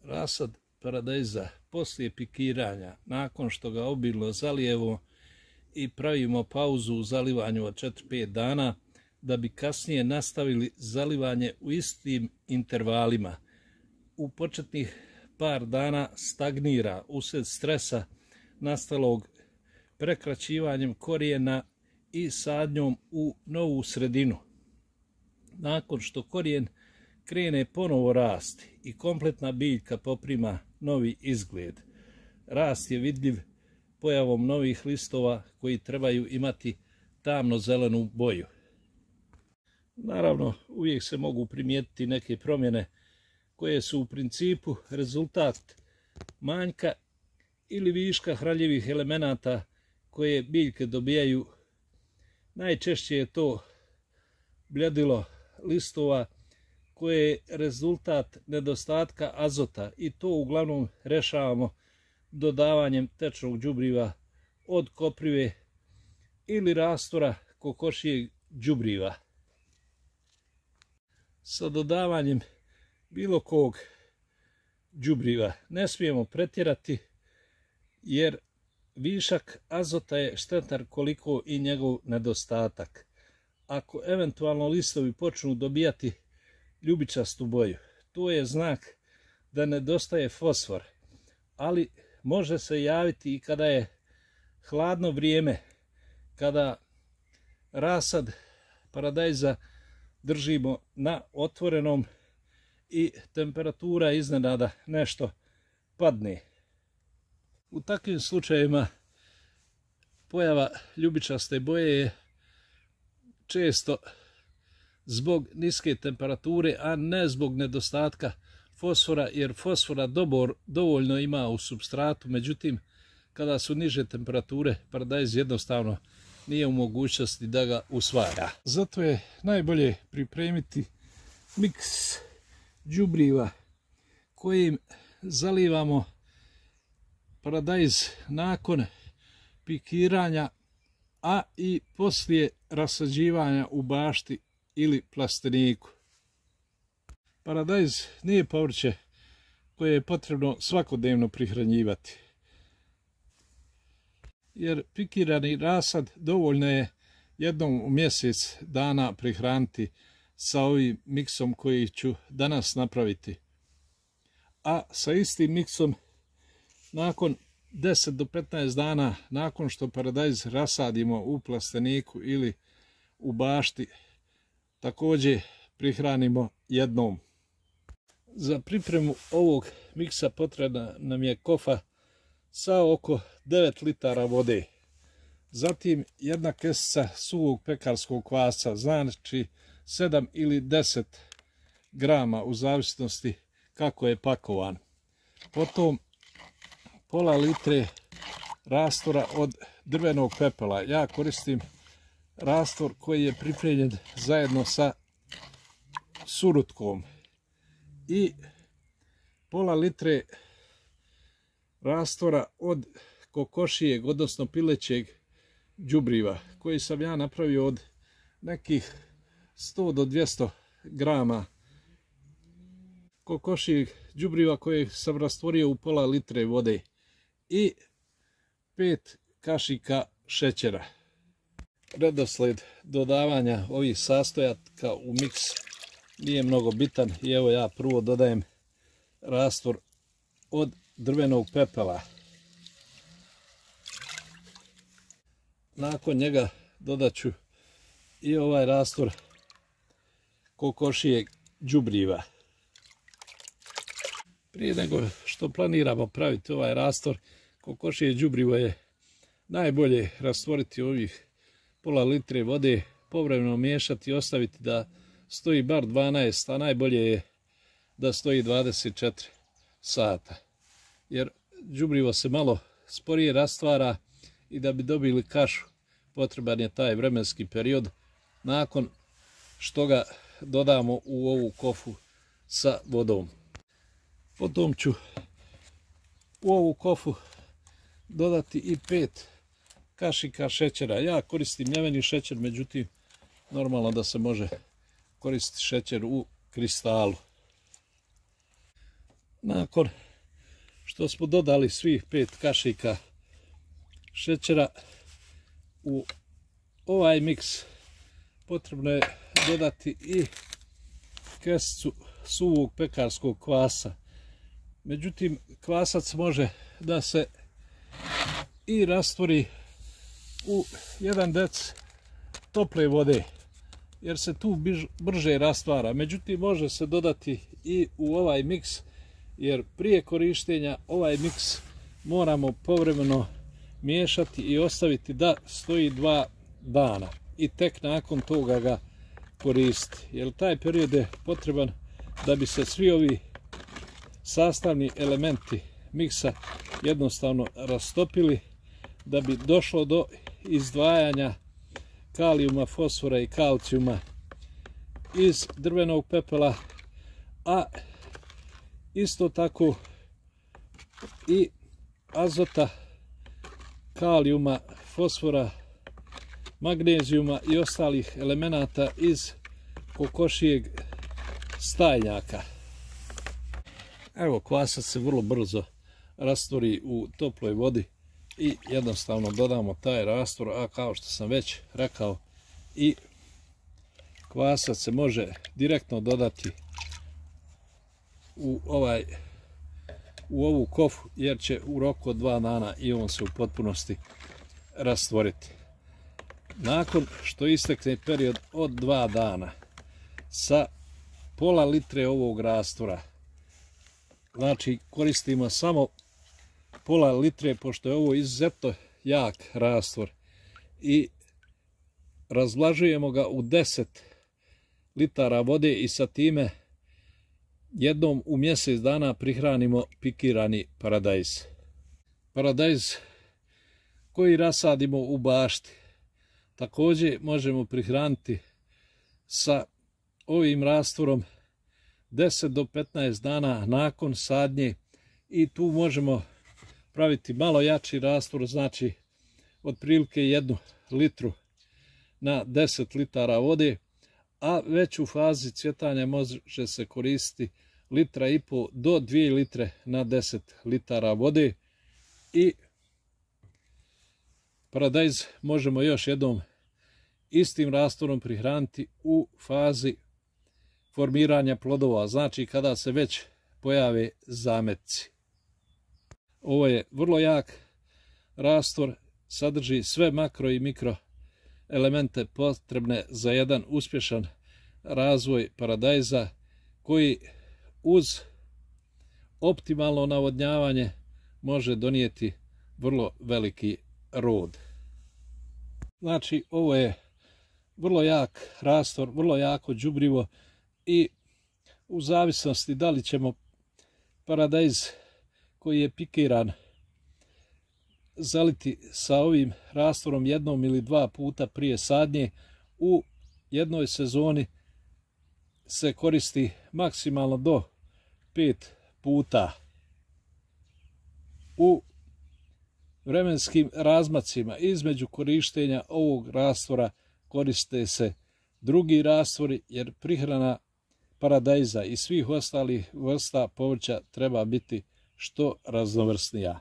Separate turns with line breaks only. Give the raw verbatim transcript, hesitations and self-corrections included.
Rasad paradajza poslije pikiranja, nakon što ga obilno zalijemo i pravimo pauzu u zalivanju od četiri do pet dana, da bi kasnije nastavili zalivanje u istim intervalima. U početnih par dana stagnira usred stresa nastalog prekraćivanjem korijena i sadnjom u novu sredinu. Nakon što korijen krene ponovo rasti i kompletna biljka poprima novi izgled, rast je vidljiv pojavom novih listova koji trebaju imati tamno zelenu boju. Naravno, uvijek se mogu primijetiti neke promjene koje su u principu rezultat manjka ili viška hranjivih elemenata koje biljke dobijaju. Najčešće je to bljedilo listova koje je rezultat nedostatka azota i to uglavnom rešavamo dodavanjem tečnog đubriva od koprive ili rastora kokošijeg đubriva. Sa dodavanjem bilo kog đubriva ne smijemo pretjerati, jer višak azota je štetan koliko i njegov nedostatak. Ako eventualno listovi počnu dobijati ljubičastu boju, to je znak da nedostaje fosfor, ali može se javiti i kada je hladno vrijeme, kada rasad paradajza držimo na otvorenom i temperatura iznenada nešto padne. U takvim slučajevima pojava ljubičaste boje je često zbog niske temperature, a ne zbog nedostatka fosfora, jer fosfora dobor, dovoljno ima u supstratu, međutim kada su niže temperature paradajz jednostavno nije u mogućnosti da ga usvaja. Zato je najbolje pripremiti miks đubriva kojim zalivamo paradajz nakon pikiranja, a i poslije rasađivanja u bašti ili plasteniku. Paradajz nije povrće koje je potrebno svakodnevno prihranjivati, jer pikirani rasad dovoljno je jednom u mjesec dana prihraniti sa ovim miksom koji ću danas napraviti. A sa istim miksom nakon deset do petnaest dana nakon što paradajz rasadimo u plasteniku ili u bašti, također prihranimo jednom. Za pripremu ovog miksa potrebna nam je kofa sa oko devet litara vode. Zatim jedna kesica suvog pekarskog kvasca, znači sedam ili deset grama u zavisnosti kako je pakovan. Potom pola litre rastora od drvenog pepela. Ja koristim rastor koji je pripremljen zajedno sa surutkom. I pola litre rastora od kokošijeg, odnosno pilećeg đubriva, koji sam ja napravio od nekih sto do dvjesto grama kokošijeg đubriva kojeg sam rastvorio u pola litre vode i pet kašika šećera. Redosled dodavanja ovih sastojaka u miks nije mnogo bitan i evo ja prvo dodajem rastor od drvenog pepela. Nakon njega dodat ću i ovaj rastor kokošijeg đubriva. Prije nego što planiramo praviti ovaj rastor, kokošije đubrivo je najbolje rastvoriti ovih pola litre vode, povremeno miješati i ostaviti da stoji bar dvanaest, a najbolje je da stoji dvadeset četiri sata. Jer đubrivo se malo sporije rastvara i da bi dobili kašu potreban je taj vremenski period nakon što ga dodamo u ovu kofu sa vodom. Potom ću u ovu kofu dodati i pet kašika šećera. Ja koristim mljeveni šećer, međutim normalno da se može koristiti šećer u kristalu. Nakon što smo dodali svih pet kašika šećera, u ovaj miks potrebno je dodati i kesicu suvog pekarskog kvasa. Međutim, kvasac može da se i rastvori u jedan dec tople vode, jer se tu brže rastvara. Međutim, može se dodati i u ovaj miks, jer prije korištenja ovaj miks moramo povremeno miješati i ostaviti da stoji dva dana i tek nakon toga ga koristiti, jer taj period je potreban da bi se svi ovi sastavni elementi miksa jednostavno rastopili, da bi došlo do izdvajanja kalijuma, fosfora i kalcijuma iz drvenog pepela, a isto tako i azota, kalijuma, fosfora, magnezijuma i ostalih elemenata iz kokošijeg stajnjaka. Evo, kvasac se vrlo brzo rastvori u toploj vodi i jednostavno dodamo taj rastvor, a kao što sam već rekao, i kvasac se može direktno dodati u ovaj u ovu kofu, jer će u roku od dva dana i on se u potpunosti rastvoriti. Nakon što istekne period od dva dana, sa pola litre ovog rastvora, znači koristimo samo pola litre, pošto je ovo izuzetno jak rastvor, i razvlažujemo ga u deset litara vode i sa time jednom u mjesec dana prihranimo pikirani paradajz. Paradajz koji rasadimo u bašti također možemo prihraniti sa ovim rastvorom deset do petnaest dana nakon sadnje, i tu možemo praviti malo jači rastvor, znači otprilike jednu litru na deset litara vode, a već u fazi cvjetanja može se koristiti litra i po do dvije litre na deset litara vode. I paradajz možemo još jednom istim rastvorom prihraniti u fazi formiranja plodova, znači kada se već pojave zametci. Ovo je vrlo jak rastvor, sadrži sve makro i mikro elemente potrebne za jedan uspješan razvoj paradajza, koji uz optimalno navodnjavanje može donijeti vrlo veliki rod. Znači, ovo je vrlo jak rastvor, vrlo jako đubrivo, i u zavisnosti da li ćemo paradajz koji je pikiran zaliti sa ovim rastvorom jednom ili dva puta prije sadnje, u jednoj sezoni se koristi maksimalno do pet puta. U vremenskim razmacima između korištenja ovog rastvora koriste se drugi rastvori, jer prihrana paradajza i svih ostalih vrsta povrća treba biti što raznovrsnija.